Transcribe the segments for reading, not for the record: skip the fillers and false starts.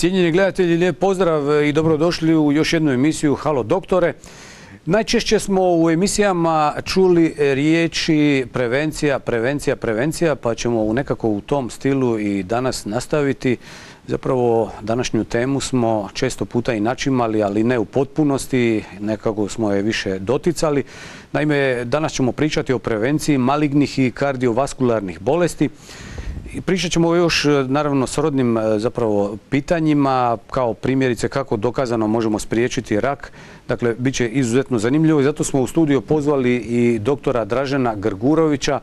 Cijenjeni gledatelji, lijep pozdrav i dobrodošli u još jednu emisiju Halo doktore. Najčešće smo u emisijama čuli riječi prevencija, pa ćemo nekako u tom stilu i danas nastaviti. Zapravo današnju temu smo često puta i načimali, ali ne u potpunosti, nekako smo je više doticali. Naime, danas ćemo pričati o prevenciji malignih i kardiovaskularnih bolesti. Pričat ćemo još naravno srodnim zapravo pitanjima, kao primjerice kako dokazano možemo spriječiti rak. Dakle, bit će izuzetno zanimljivo i zato smo u studio pozvali i doktora Dražena Grgurovića,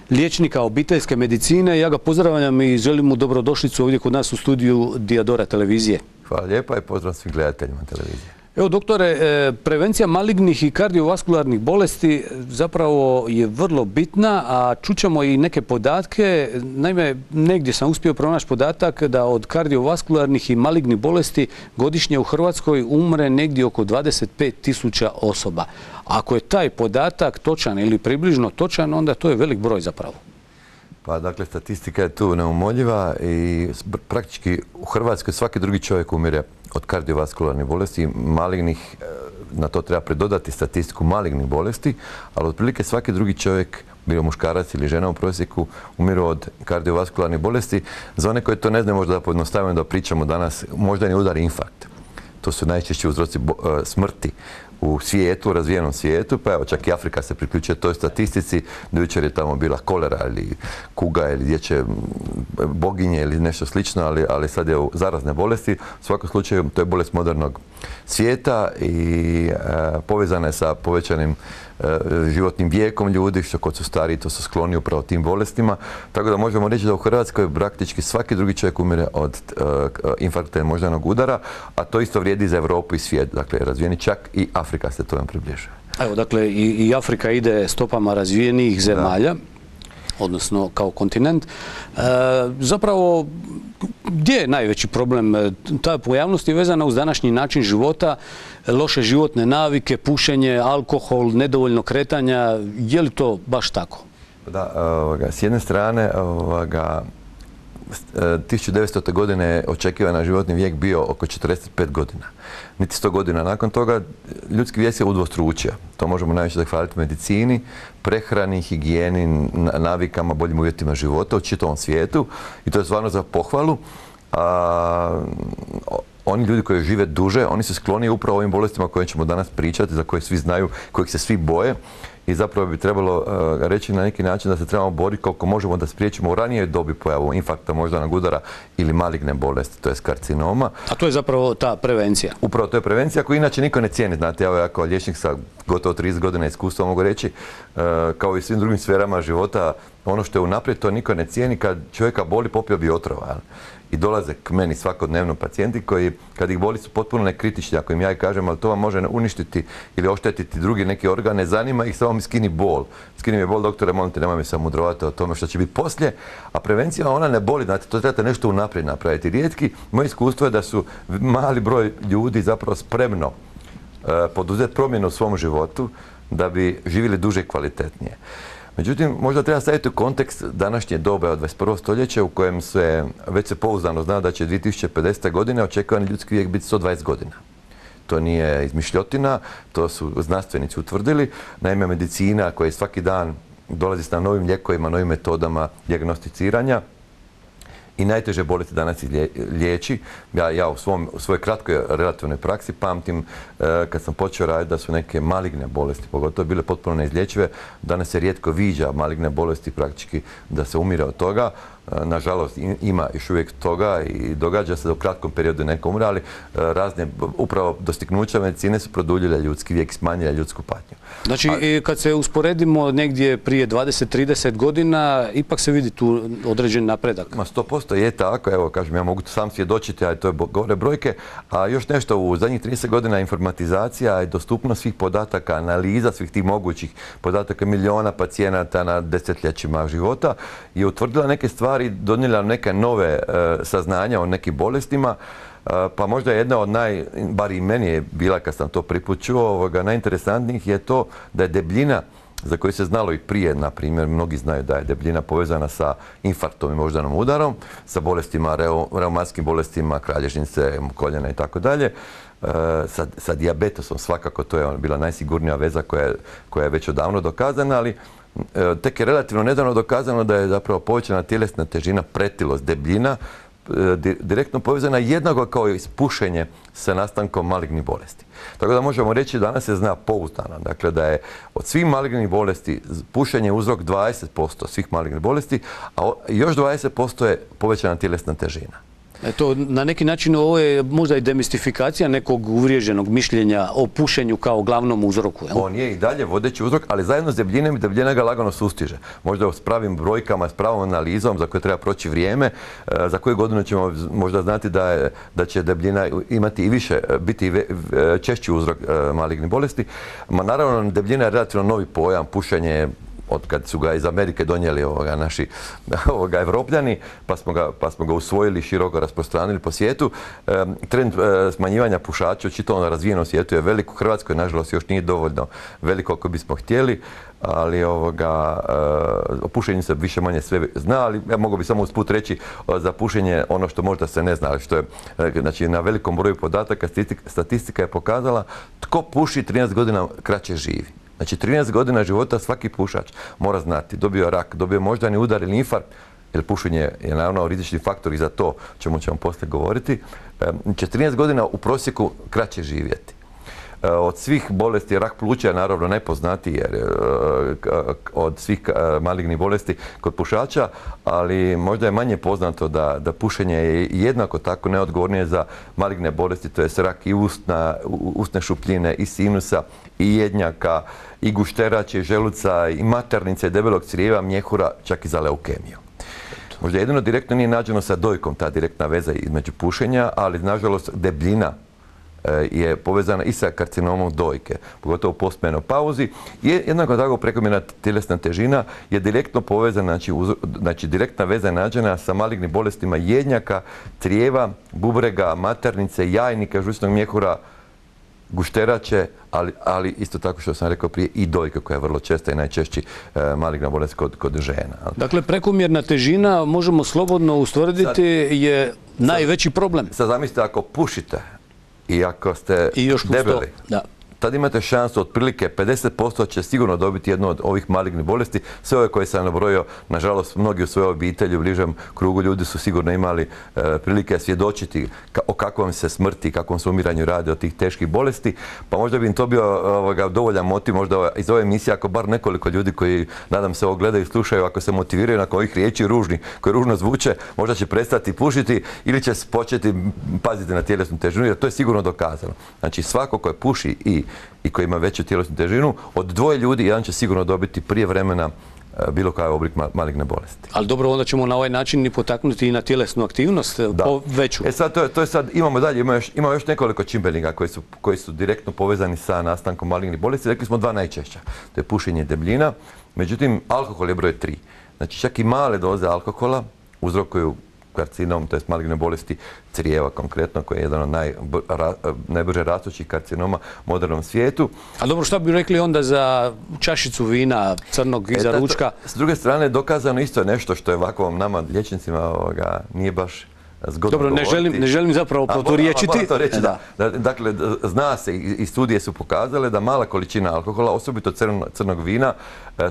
liječnika obiteljske medicine. Ja ga pozdravljam i želim mu dobrodošlicu ovdje kod nas u studiju Diadora televizije. Hvala lijepa i pozdrav svim gledateljima televizije. Evo doktore, prevencija malignih i kardiovaskularnih bolesti zapravo je vrlo bitna, a čućemo i neke podatke. Naime, negdje sam uspio pronaći podatak da od kardiovaskularnih i malignih bolesti godišnje u Hrvatskoj umre negdje oko 25.000 osoba. Ako je taj podatak točan ili približno točan, onda to je velik broj zapravo. Pa dakle, statistika je tu neumoljiva i praktički u Hrvatskoj svaki drugi čovjek umire od kardiovaskularnih bolesti, malignih, na to treba pridodati statistiku malignih bolesti, ali otprilike svaki drugi čovjek, bio muškarac ili žena u prosjeku, umiru od kardiovaskularnih bolesti. Za one koji to ne znaju, možda da pojednostavimo da pričamo danas, moždani udar i infarkt. To su najčešći uzroci smrti u svijetu, razvijenom svijetu, pa evo čak i Afrika se priključuje toj statistici. Do jučer je tamo bila kolera ili kuga ili dječje boginje ili nešto slično, ali sad je u zarazne bolesti. U svakom slučaju to je bolest modernog svijeta i povezana je sa povećanim životnim vijekom ljudi, što kod su stariji to su skloni upravo tim bolestima. Tako da možemo reći da u Hrvatskoj praktički svaki drugi čovjek umire od infarkta i moždanog udara, a to isto vrijedi za Europu i svijet. Dakle, razvijeni čak i Afrika se tome približuje. Evo, dakle, i Afrika ide stopama razvijenih zemalja, odnosno kao kontinent. Zapravo, gdje je najveći problem? Ta pojavnost je vezana uz današnji način života, loše životne navike, pušenje, alkohol, nedovoljno kretanja. Je li to baš tako? Da, s jedne strane, 1900. godine očekivana životni vijek bio oko 45 godina. Niti 100 godina nakon toga ljudski vijek se udvostručio. To možemo najviše zahvaliti medicini, prehrani, higijeni, navikama, boljim uvjetima života u čitavom svijetu i to je stvarno za pohvalu. Oni ljudi koji žive duže, oni su skloni upravo ovim bolestima o kojim ćemo danas pričati, za koje svi znaju, kojih se svi boje. I zapravo bi trebalo reći na neki način da se trebamo boriti koliko možemo da spriječimo u ranijoj dobi pojavu infarkta, moždanog udara ili maligne bolesti, to je karcinoma. A to je zapravo ta prevencija? Upravo to je prevencija koju inače niko ne cijeni. Znate, ja kao liječnik sa gotovo 30 godina iskustva mogu reći, kao i svim drugim sferama života, ono što je unaprijed to niko ne cijeni. Kad čovjeka boli, popio bi otrova. I dolaze k meni svakodnevno pacijenti koji, kad ih boli, su potpuno nekritični, ako im ja i kažem, ali to vam može uništiti ili oštetiti drugi neki organ, ne zanima ih, samo mi skini bol. Skini mi bol, doktore, molim te, nemoj mi samo mudrovati o tome što će biti poslije. A prevencija, ona ne boli, znate, to trebate nešto unaprijed napraviti. Rijetki, moje iskustvo je da su mali broj ljudi zapravo spremno poduzeti promjenu u svom životu da bi živjeli duže i kvalitetnije. Međutim, možda treba staviti u kontekst današnje dobe od 21. stoljeća u kojem se već se pouzdano zna da će 2050. godine očekivani ljudski vijek biti 120 godina. To nije izmišljotina, to su znanstvenici utvrdili. Naime, medicina koja svaki dan dolazi s novim lijekovima, novim metodama dijagnosticiranja i najteže bolesti danas liječi. Ja u svojoj kratkoj relativnoj praksi pamtim kad sam počeo raditi da su neke maligne bolesti, pogotovo bile potpuno neizlječive. Danas se rijetko viđa maligne bolesti, praktički da se umire od toga. Nažalost, ima još uvijek toga i događa se da u kratkom periodu neko umre, ali razne upravo dostignuća medicine su produljile ljudski vijek, smanjile ljudsku patnju. Znači, kad se usporedimo negdje prije 20-30 godina, ipak se vidi tu određen napredak? 100% je tako, evo kažem, ja mogu sam svjedočiti, ali to je gore brojke. A još nešto, u zadnjih 30 godina informatizacija i dostupnost svih podataka, analiza svih tih mogućih podataka miliona pacijenata na desetljećima života je utvrdila neke stvari, donijela neke nove saznanja o nekim bolestima, pa možda jedna od bar i meni je bila kad sam to prvi put čuo, najinteresantnijih je to da je debljina za koji se znalo i prije, na primjer, mnogi znaju da je debljina povezana sa infarktom i moždanom udarom, sa bolestima, reumatskim bolestima, kralježnice, koljena i tako dalje. Sa dijabetesom svakako, to je bila najsigurnija veza koja je već odavno dokazana, ali tek je relativno nedavno dokazano da je zapravo povećana tjelesna težina, pretilost, debljina direktno povezana jednako kao i pušenje sa nastankom malignih bolesti. Tako da možemo reći danas se zna pouzdano, dakle da je od svih malignih bolesti pušenje uzrok 20% svih malignih bolesti, a još 20% je povećana tjelesna težina. To na neki način ovo je možda i demistifikacija nekog uvriježenog mišljenja o pušenju kao glavnom uzroku. On je i dalje vodeći uzrok, ali zajedno s debljinom i debljina ga lagano sustiže. Možda s pravim brojkama, s pravom analizom za koje treba proći vrijeme, za koju godinu ćemo možda znati da će debljina imati i više, biti češći uzrok malignih bolesti. Naravno, debljina je relativno novi pojam, pušenje od kad su ga iz Amerike donijeli naši Evropljani, pa smo ga usvojili, široko rasprostranili po svijetu. Trend smanjivanja pušača u čitavom razvijenom svijetu je velik. U Hrvatskoj, nažalost, još nije dovoljno veliko ako bismo htjeli, ali o pušenju se više manje sve zna, ali ja mogu bi samo usput reći za pušenje ono što možda se ne zna, ali što je, znači, na velikom broju podataka statistika je pokazala tko puši 13 godina kraće živi. Znači 13 godina života svaki pušač mora znati, dobio rak, dobio moždani udar ili infarkt, jer pušenje je naravno rizični faktor i za to, o čemu ćemo poslije govoriti, će 13 godina u prosjeku kraće živjeti. Od svih bolesti, rak pluća je naravno najpoznatiji jer od svih malignih bolesti kod pušača, ali možda je manje poznato da pušenje je jednako tako neodgovornije za maligne bolesti, to je rak i usne šupljine, i sinusa, i jednjaka, i gušterače, i želuca, i maternice, debelog crijeva, mjehura, čak i za leukemiju. Možda jedino direktno nije nađeno sa dojkom ta direktna veza između pušenja, ali nažalost debljina je povezana i sa karcinomom dojke, pogotovo u postmenopauzi. Jednako tako prekomjerna tjelesna težina je direktno povezana, znači direktna veza je nađena sa malignim bolestima jednjaka, crijeva, bubrega, maternice, jajnika, žučnog mjehura, gušterače, ali isto tako što sam rekao prije i dojka koja je vrlo česta i najčešći maligna bolest kod žena. Dakle, prekomjerna težina, možemo slobodno ustvrditi, je najveći problem. Sad zamislite ako pušite i ako ste debeli, tad imate šansu otprilike 50% će sigurno dobiti jednu od ovih malignih bolesti. Sve ove koje sam nabrojio, nažalost, mnogi u svojoj obitelji, u bližem krugu ljudi su sigurno imali prilike svjedočiti o kakvom se smrti, kakvom se umiranju radi od tih teških bolesti. Pa možda bi im to bio dovoljan motiv, možda iz ove emisije, ako bar nekoliko ljudi koji, nadam se, ovo gledaju i slušaju, ako se motiviraju nakon ovih riječi ružnih, koje ružno zvuče, možda će prestati pušiti ili će početi paziti na tjelesnu težinu, jer to je sigurno dokazano. Znači, svako ko puši i koji ima veću tjelesnu težinu, od dvoje ljudi jedan će sigurno dobiti prije vremena bilo kakav oblik maligne bolesti. Ali dobro, onda ćemo na ovaj način i potaknuti i na tjelesnu aktivnost veću. Sad, to je sad, imamo dalje, ima još nekoliko čimbenika koji su direktno povezani sa nastankom malignih bolesti. Rekli smo dva najčešća. To je pušenje i debljina. Međutim, alkohol je broj 3. Znači, čak i male doze alkohola uzrokuju karcinom, to je maligne bolesti crijeva konkretno, koji je jedan od najbrže rastućih karcinoma u modernom svijetu. A dobro, što bi rekli onda za čašicu vina crnog iza ručka? S druge strane, dokazano isto je nešto što je ovako nama liječnicima nije baš zgodno govoriti. Dobro, ne želim zapravo proturječiti. Moram to reći, da. Dakle, zna se i studije su pokazale da mala količina alkohola, osobito crnog vina,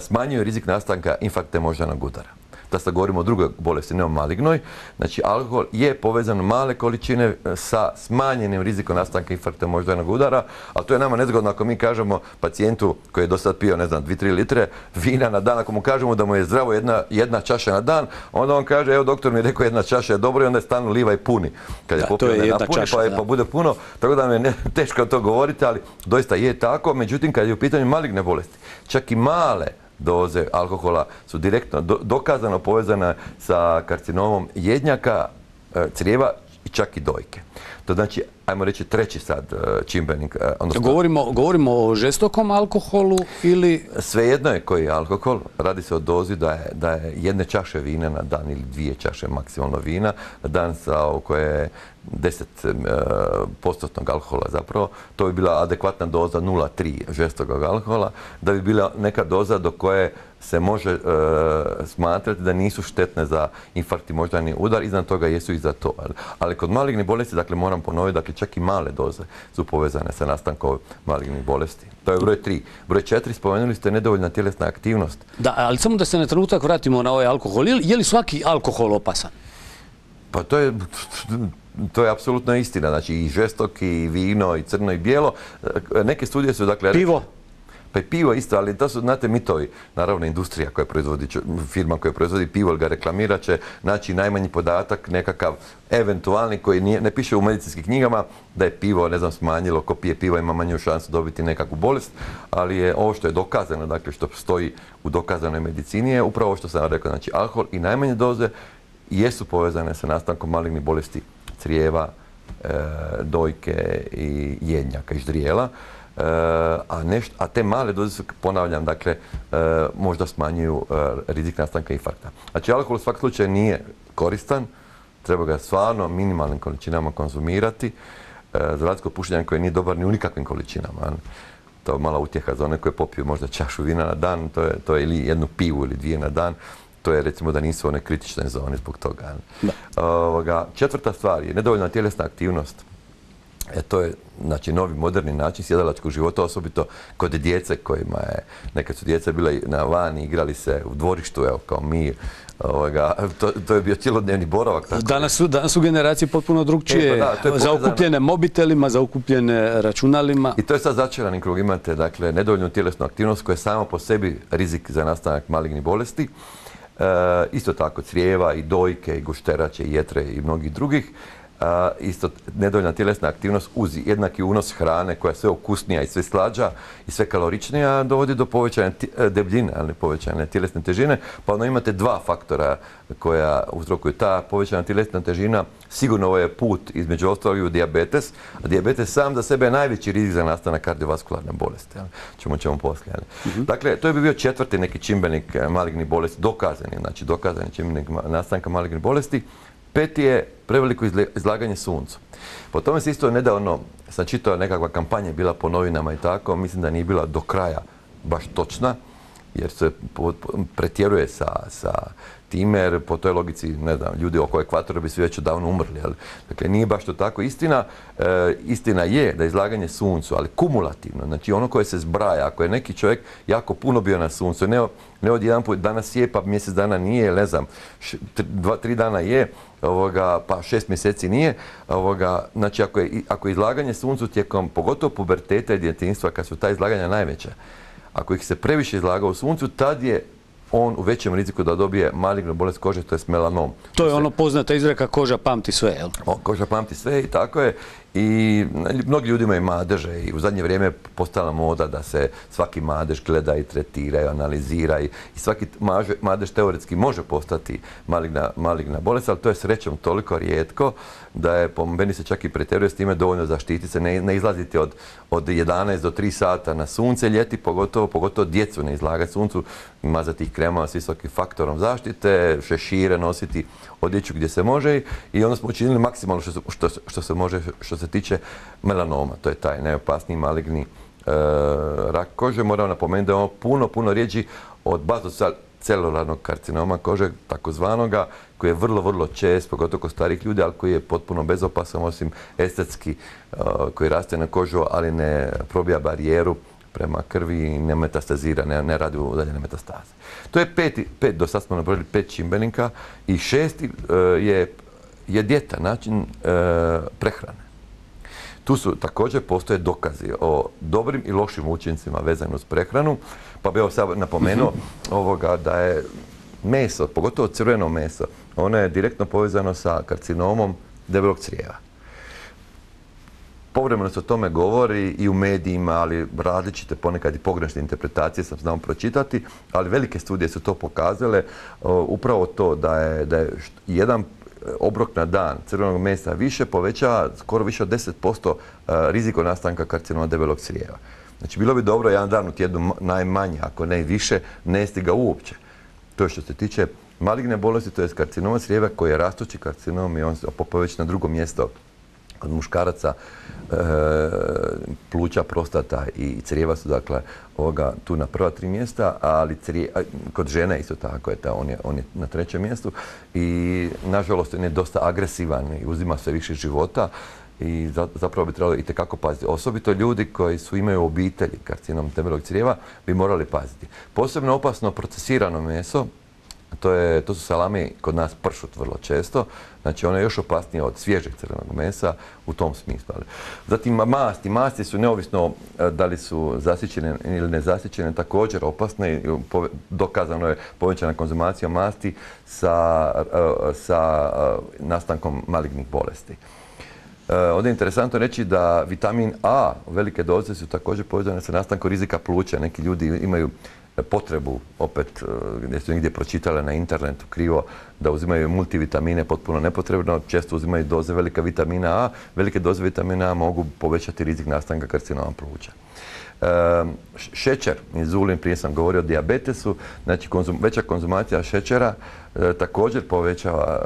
smanjuje rizik nastanka infarkta moždanog udara. Da sad govorimo o drugoj bolesti, ne o malignoj. Znači, alkohol je povezan male količine sa smanjenim rizikom nastanka infarkta moždanog udara, ali to je nama nezgodno ako mi kažemo pacijentu koji je do sad pio, ne znam, 2-3 litre vina na dan, ako mu kažemo da mu je zdravo jedna čaša na dan, onda on kaže, evo doktor mi je rekao jedna čaša je dobro i onda je stalno liva i puni. Kad je popio ne napuni, pa bude puno, tako da mi je teško to govoriti, ali doista je tako. Međutim, kad je u pitanju maligne bolesti, čak i male doze alkohola su direktno dokazano povezane sa karcinomom jednjaka, crijeva, i čak i dojke. To znači, ajmo reći, treći sad čimbenik. Govorimo o žestokom alkoholu ili... Svejedno je koji je alkohol. Radi se o dozi da je jedne čaše vina na dan ili 2 čaše maksimalno vina na dan koje je 10% alkohola zapravo. To bi bila adekvatna doza 0,3 žestokog alkohola, da bi bila neka doza do koje se može smatrati da nisu štetne za infarkt i moždani udar, iznad toga jesu i za to. Ali kod malignih bolesti, dakle moram ponoviti, dakle čak i male doze su povezane sa nastankom malignih bolesti. To je broj 3. Broj 4, spomenuli ste nedovoljna tjelesna aktivnost. Da, ali samo da se na trenutak vratimo na ovaj alkohol. Je li svaki alkohol opasan? Pa to je apsolutno istina. Znači i žestoki, i vino, i crno, i bijelo. Neke studije su, dakle... Pivo? Pa i pivo isto, ali to su, znate, mitovi. Naravno, industrija koja proizvodi, firma koja proizvodi pivo ili ga reklamirat će naći najmanji podatak, nekakav eventualni koji ne piše u medicinskim knjigama da je pivo, ne znam, smanjilo, ko pije pivo ima manju šansu dobiti nekakvu bolest, ali je ovo što je dokazano, dakle što stoji u dokazanoj medicini je upravo što sam rekao, znači alkohol i najmanje doze jesu povezane sa nastankom malignih bolesti crijeva, dojke i jednjaka i ždrijela. A te male doze su, ponavljam, dakle, možda smanjuju rizik nastanka infarkta. Znači, alkohol u svakom slučaju nije koristan, treba ga stvarno minimalnim količinama konzumirati, za razliku od pušenja koje nije dobar ni u nikakvim količinama. To je mala utjeha za one koje popiju možda čašu vina na dan, to je ili jednu pivu ili 2 na dan, to je recimo da nisu one kritične zone zbog toga. Četvrta stvar je nedovoljna tjelesna aktivnost. To je, znači, novi moderni način sjedalačkog života, osobito kod djece kojima je, nekad su djeca bila na vani, igrali se u dvorištu, evo, kao mi, to je bio cjelodnevni boravak. Danas su generacije potpuno drugčije, zaokupljene mobitelima, zaokupljene računalima. I to je sad začarani krug, imate, dakle, nedovoljnu tjelesnu aktivnost koja je sama po sebi rizik za nastanak malignih bolesti. Isto tako crijeva i dojke i gušterače i jetre i mnogih drugih. Isto nedovoljna tjelesna aktivnost uz jednaki unos hrane koja je sve okusnija i sve slađa i sve kaloričnija dovodi do povećanja debljine, ali povećanja tjelesne težine. Pa onda imate 2 faktora koja uzrokuju. Ta povećana tjelesna težina sigurno ovo je put između ostalog u dijabetes, a dijabetes sam za sebe je najveći rizik za nastanak kardiovaskularne bolesti. Ćemo poslije. Dakle, to bi bio 4. neki čimbenik malignih bolesti, dokazani čimbenik nastanka malignih bolesti. 5. je preveliko izlaganje suncu. Po tome se isto nedavno, sam čitao, nekakva kampanja bila po novinama i tako, mislim da nije bila do kraja baš točna, jer se pretjeruje sa time, jer po toj logici, ne znam, ljudi oko ekvatora bi svi već odavno umrli. Dakle, nije baš to tako. Istina je da je izlaganje suncu, ali kumulativno, znači ono koje se zbraja, ako je neki čovjek jako puno bio na suncu, ne od jedan put danas je, pa mjesec dana nije, ne znam, 2-3 dana je, pa 6 mjeseci nije. Znači, ako je izlaganje suncu tijekom, pogotovo puberteta i djetinjstva, kad su ta izlaganja najveća, ako ih se previše izlaga u suncu, tad je on u većem riziku da dobije malignu bolest kože, to je melanom. To je ono poznata izreka koža pamti sve, jel? Koža pamti sve i tako je. I mnogi ljudi imaju madeže i u zadnje vrijeme postala moda da se svaki madež gleda i tretira i analizira i svaki madež teoretski može postati maligna bolest, ali to je srećom toliko rijetko da je, po meni se čak i pretjeruje s time, dovoljno zaštiti se, ne izlaziti od 11 do 3 sata na sunce ljeti, pogotovo djecu ne izlagati suncu, mazati ih kremama s visokim faktorom zaštite, šešire nositi, odjeću gdje se može i onda smo učinili maksimalno što se može, što se tiče melanoma. To je taj najopasniji maligni rak kože. Moram napomenuti da je ono puno rijeđi od bazocelularnog karcinoma kože, takozvanoga, koji je vrlo čest, pogotovo kod starih ljudi, ali koji je potpuno bezopasan, osim estetski, koji raste na kožu, ali ne probija barijeru prema krvi i ne metastazira, ne radi udaljene metastaze. To je 5, do sad smo nabrojili 5 čimbenika i 6. je dijeta, način prehrane. Tu su također postoje dokazi o dobrim i lošim učincima vezano uz prehranu, pa bih sad napomenuo da je meso, pogotovo crveno meso, ono je direktno povezano sa karcinomom debelog crijeva. Povremeno se o tome govori i u medijima, ali različite ponekad i pogrešne interpretacije sam znao pročitati, ali velike studije su to pokazale, upravo to da je jedan obrok na dan crvenog mesa više povećava skoro više od 10% riziko nastanka karcinoma debelog crijeva. Znači, bilo bi dobro jedan dan u tjednu najmanje, ako ne i više, ne jesti ga uopće. To je što se tiče maligne bolesti, to je karcinoma crijeva koji je rastući karcinom i on se popao već na drugo mjesto kod muškaraca. Pluća, prostata i crijeva su dakle tu na prva 3 mjesta, ali kod žene isto tako on je na 3. mjestu i nažalost on je dosta agresivan i uzima sve više života i zapravo bi trebalo itekako paziti. Osobito ljudi koji imaju obitelji karcinom debelog crijeva bi morali paziti. Posebno opasno procesirano meso, to su salami, kod nas pršut vrlo često, znači ono je još opasnije od svježeg crvenog mesa u tom smislu. Zatim masti su neovisno da li su zasićene ili nezasićene također opasne. Dokazano je povećana konzumacija masti sa nastankom malignih bolesti. Ovdje je interesantno reći da vitamin A, velike doze su također povezane sa nastankom rizika pluća. Neki ljudi imaju potrebu, opet gdje su negdje pročitale na internetu krivo, da uzimaju multivitamine potpuno nepotrebno, često uzimaju doze velika vitamina A. Velike doze vitamina A mogu povećati rizik nastanka karcinoma pluća. Šećer, inzulin, prije sam govorio o dijabetesu, znači veća konzumacija šećera također povećava,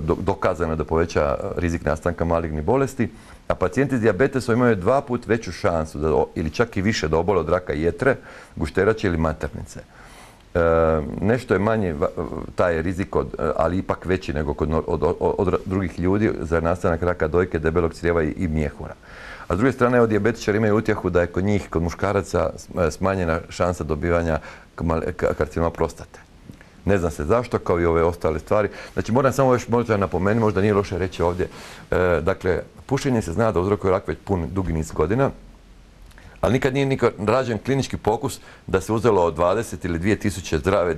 dokazano da poveća rizik nastanka malignih bolesti, a pacijenti s dijabetesom imaju 2 puta veću šansu ili čak i više da obole od raka jetre, gušterače ili maternice. Nešto je manji taj rizik, ali ipak veći nego od drugih ljudi za nastanak raka dojke, debelog crijeva i mjehura. A s druge strane, dijabetičari imaju utjehu da je kod njih, kod muškaraca, smanjena šansa dobivanja karcinoma prostate. Ne znam se zašto, kao i ove ostale stvari. Znači, moram samo još možda napomenuti, možda nije loše reći ovdje. Dakle, pušenje se zna da uzrokuje rak već dugi niz godina, ali nikad nije rađen klinički pokus da se uzelo od 20 ili 2000 zdrave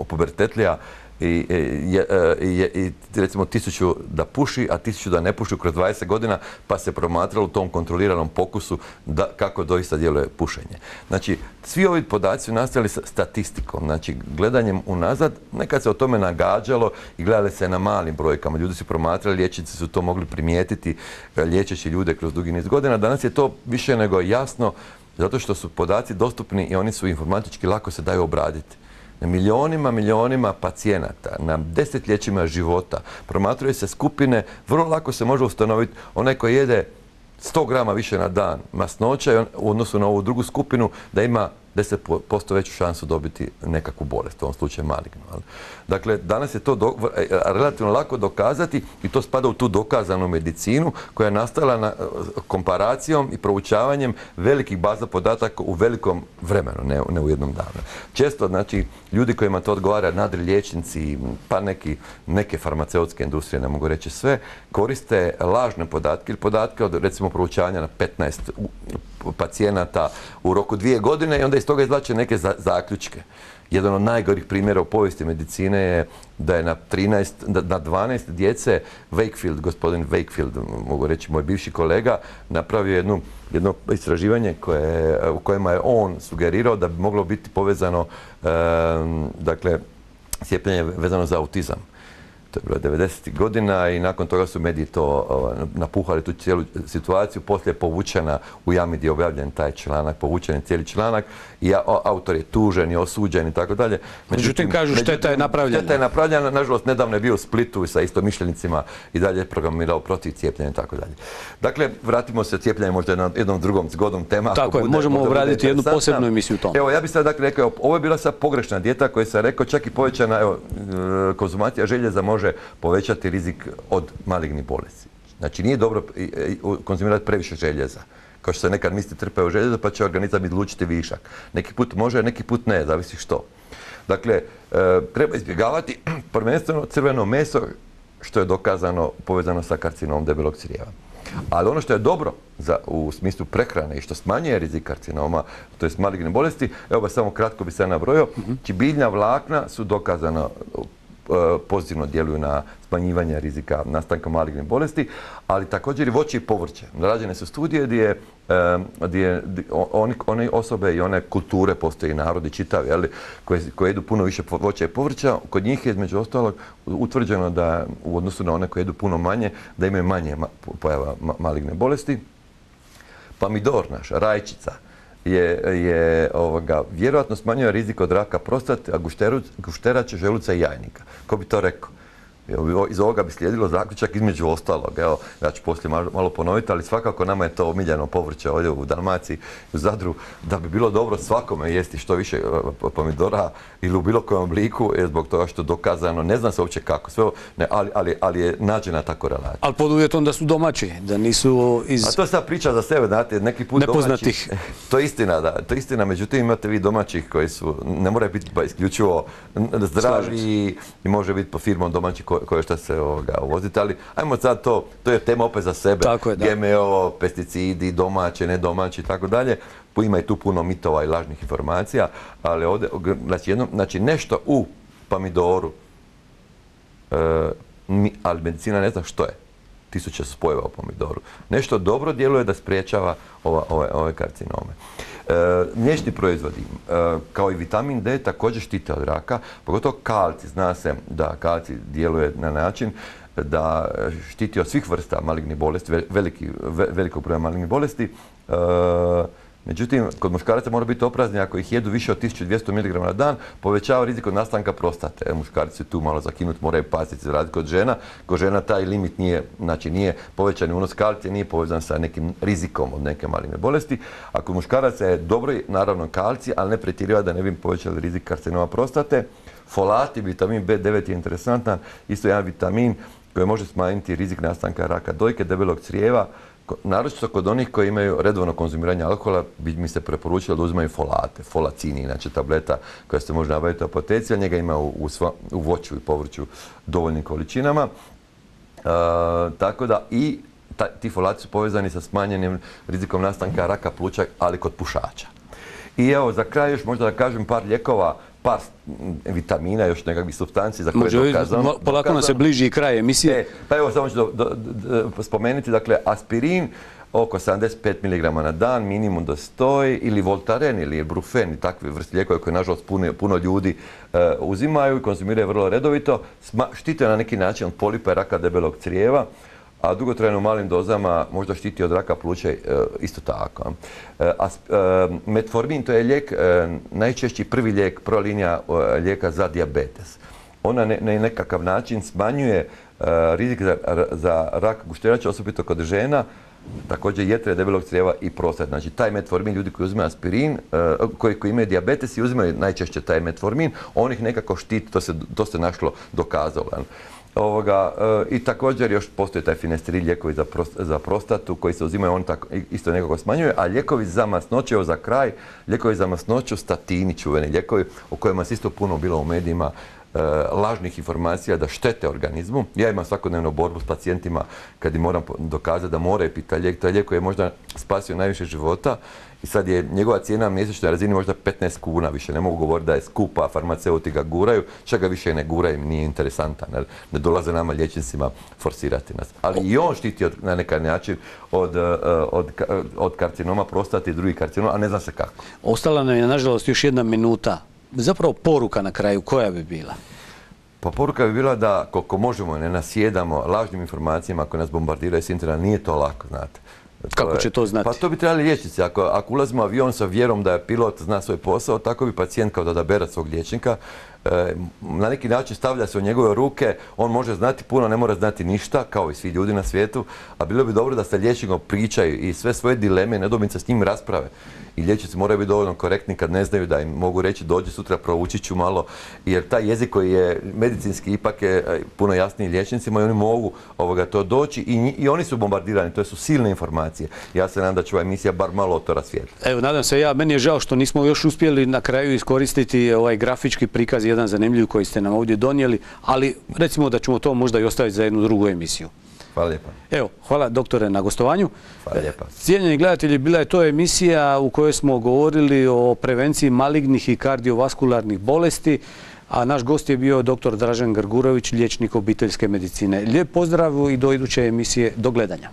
pubertetlija i recimo 1000 da puši, a 1000 da ne puši kroz 20 godina, pa se promatralo u tom kontroliranom pokusu kako doista djeluje pušenje. Znači, svi ovi podaci su nastali statistikom, znači gledanjem unazad, nekad se o tome nagađalo i gledali se na malim brojkama. Ljudi su promatrali, liječnici su to mogli primijetiti, liječeći ljude kroz dugi niz godina. Danas je to više nego jasno, zato što su podaci dostupni i oni su informatički lako se daju obraditi. Na milionima pacijenata, na desetljećima života, promatraju se skupine, vrlo lako se može ustanoviti onaj koji jede 100 grama više na dan masnoća u odnosu na ovu drugu skupinu da ima 10% veću šansu dobiti nekakvu bolest, u ovom slučaju malignu. Dakle, danas je to relativno lako dokazati i to spada u tu dokazanu medicinu koja je nastala komparacijom i proučavanjem velikih baza podataka u velikom vremenu, ne u jednom danu. Često, znači, ljudi kojima to odgovara, nadri liječnici, pa neke farmaceutske industrije, ne mogu reći sve, koriste lažne podatke ili podatke od, recimo, proučavanja na 15 pacijenata u roku 2 godine i onda iz toga izvlače neke zaključke. Jedan od najgorih primjera u povijesti medicine je da je na 12 djece gospodin Wakefield, mogu reći moj bivši kolega, napravio jedno istraživanje u kojima je on sugerirao da bi moglo biti povezano, dakle, cijepljenje vezano za autizam. To je bilo 90. godina i nakon toga su mediji to napuhali tu cijelu situaciju. Poslije je povučena u Jami gdje je objavljen taj članak, povučen je cijeli članak i autor je tužen i osuđen i tako dalje. Međutim, kažu šteta je napravljena. Šteta je napravljena, nažalost, nedavno je bio u Splitu sa istomišljenicima i dalje je programirao protiv cijepljenja i tako dalje. Dakle, vratimo se cijepljenje možda jednom drugom zgodnom tema. Tako je, možemo obraditi jednu posebnu emisiju u tom. Evo, ja bih sad dakle rekao, ovo je bila sad pogrešna dijeta koja sam rekao, čak i povećana konzumacija željeza može povećati rizik od malignih bolesti. Znači, nije dobro konzumirati previše željeza. Kao što se nekad misli trpaju željezo, pa će organizam izlučiti višak. Neki put može, neki put ne, zavisi što. Dakle, treba izbjegavati prvenstveno crveno meso, što je dokazano povezano sa karcinomom debelog crijeva. Ali ono što je dobro u smislu prehrane i što smanjuje rizik karcinoma, to je maligne bolesti, evo ba samo kratko bi se nabrojio, biljna vlakna su dokazana pozitivno djeluju na smanjivanje rizika nastanka malignih bolesti, ali također i voće i povrće. Rađene su studije gdje one osobe i one kulture, postoje i narodi čitavi, koje jedu puno više voća i povrća, kod njih je između ostalog utvrđeno da u odnosu na one koje jedu puno manje, da imaju manje pojava maligne bolesti. Pomidor naš, rajčica, vjerojatno smanjuje rizik od raka prostate, a gušterače, želuca i jajnika. Ko bi to rekao? Iz ovoga bi slijedilo zaključak između ostalog. Evo, ja ću poslije malo ponoviti, ali svakako nama je to omiljeno povrće ovdje u Dalmaciji, u Zadru, da bi bilo dobro svakome jesti što više pomidora ili u bilo kojem obliku, zbog toga što je dokazano, ne zna se uopće kako, sve, ne, ali je nađena ta korelacija. Ali pod uvjetom da su domaći, da nisu iz... A to je sad priča za sebe, znate, neki put nepoznatih. Domaći, to je istina, da, to je istina, međutim imate vi domaćih koji su, ne moraju biti isključivo zdravi i može biti po firmom domaći koje što se uvozite, ali ajmo sad to je tema opet za sebe. Tako je, da. GMO, pesticidi, domaće, nedomaći i tako dalje. Ima i tu puno mitova i lažnih informacija, ali ovdje, znači nešto u pomidoru, ali medicina ne zna što je. Tisuće spojeva u pomidoru. Nešto dobro djeluje da spriječava ove karcinome. Mliječni proizvodi, kao i vitamin D, također štite od raka, pogotovo kalcij. Zna se da kalcij djeluje na način da štiti od svih vrsta malignih bolesti, velikog broja malignih bolesti. Međutim, kod muškaraca mora biti oprezni ako ih jedu više od 1200 mg na dan, povećava rizik od nastanka prostate. Muškarci su tu malo zakinuti, moraju paziti za razliku od žena. Kod žena taj limit nije povećani unos kalcija, nije povezan sa nekim rizikom od neke maligne bolesti. A kod muškaraca je dobro, naravno, kalcij, ali ne pretjerivati da ne bi povećali rizik karcinoma prostate. Folati, vitamin B9 je interesantan, isto jedan vitamin koji može smanjiti rizik nastanka raka dojke, debelog crijeva. Naročito kod onih koji imaju redovno konzumiranje alkohola bi mi se preporučilo da uzimaju folate. Folacin je inače tableta koja se može nabaviti u apoteci, a njega ima u voću i povrću dovoljnim količinama. Tako da i ti folati su povezani sa smanjenim rizikom nastanka raka pluća, ali kod pušača. I evo, za kraj još možda da kažem par lijekova, par vitamina, još nekakvih supstanci za koje je dokazano. Polako nam se bliži kraj emisije. Pa evo, samo ću spomenuti, dakle, aspirin oko 75 mg na dan, minimum da stoji, ili Voltaren ili Brufen i takve vrste lijekove koje, nažalost, puno ljudi uzimaju i konzumiraju vrlo redovito, štite na neki način od polipa i raka debelog crijeva, a dugotrajno u malim dozama možda štiti od raka pluća isto tako. Metformin, to je lijek, najčešći prvi lijek, prva linija lijeka za dijabetes. Ona na nekakav način smanjuje rizik za rak gušterača, osobito kod žena, također jetre, debelog crijeva i prostate. Znači, taj metformin, ljudi koji uzimaju aspirin, koji imaju dijabetes i uzimaju najčešće taj metformin, on ih nekako štiti, to se našlo dokazalo. I također još postoji taj finesteril, lijekovi za prostatu koji se uzimaju, on isto nekako smanjuje, a lijekovi za masnoću, evo za kraj, lijekovi za masnoću, statini, čuveni lijekovi o kojima se isto puno bilo u medijima, lažnih informacija da štete organizmu. Ja imam svakodnevnu borbu s pacijentima kad im moram dokazati da moraju piti taj lijek. Taj lijek koji je možda spasio najviše života i sad je njegova cijena na mjesečnoj razini možda 15 kuna više. Ne mogu govoriti da je skupa, farmaceuti ga guraju, čak ga više ne guraju, nije interesantan. Ne dolaze nama liječnicima forsirati nas. Ali i on štiti na neki način od karcinoma prostate i drugih karcinoma, a ne zna se kako. Ostala nam je, nažalost, još 1 minuta. Zapravo poruka na kraju, koja bi bila? Pa poruka bi bila da koliko možemo ne nasjedamo lažnim informacijama koje nas bombardiraju s interneta, nije to lako, znate. Kako će to znati? Pa to bi trebali liječnici. Ako ulazimo u avion sa vjerom da je pilot zna svoj posao, tako bi pacijent kao da odabere svog liječnika. Na neki način stavlja se u njegove ruke, on može znati puno, ne mora znati ništa, kao i svi ljudi na svijetu, a bilo bi dobro da sa liječnikom pričaju i sve svoje dileme, nedoumice s njim rasprave. I liječnici moraju biti dovoljno korektni kad ne znaju, da im mogu reći dođi sutra, proučit ću malo, jer taj jezik koji je medicinski ipak je puno jasniji liječnicima i oni mogu to doći i oni su bombardirani, to su silne informacije. Ja se nadam da će ova emisija bar malo to rasvijetliti. Evo, nadam se meni je žao što nismo još uspjeli na kraju iskoristiti ovaj grafički prikaz, jedan zanimljiv koji ste nam ovdje donijeli, ali recimo da ćemo to možda i ostaviti za jednu drugu emisiju. Hvala lijepa. Evo, hvala doktore na gostovanju. Hvala lijepa. Cijenjeni gledatelji, bila je to emisija u kojoj smo govorili o prevenciji malignih i kardiovaskularnih bolesti, a naš gost je bio dr. Dražen Grgurović, liječnik obiteljske medicine. Lijep pozdrav i do iduće emisije. Do gledanja.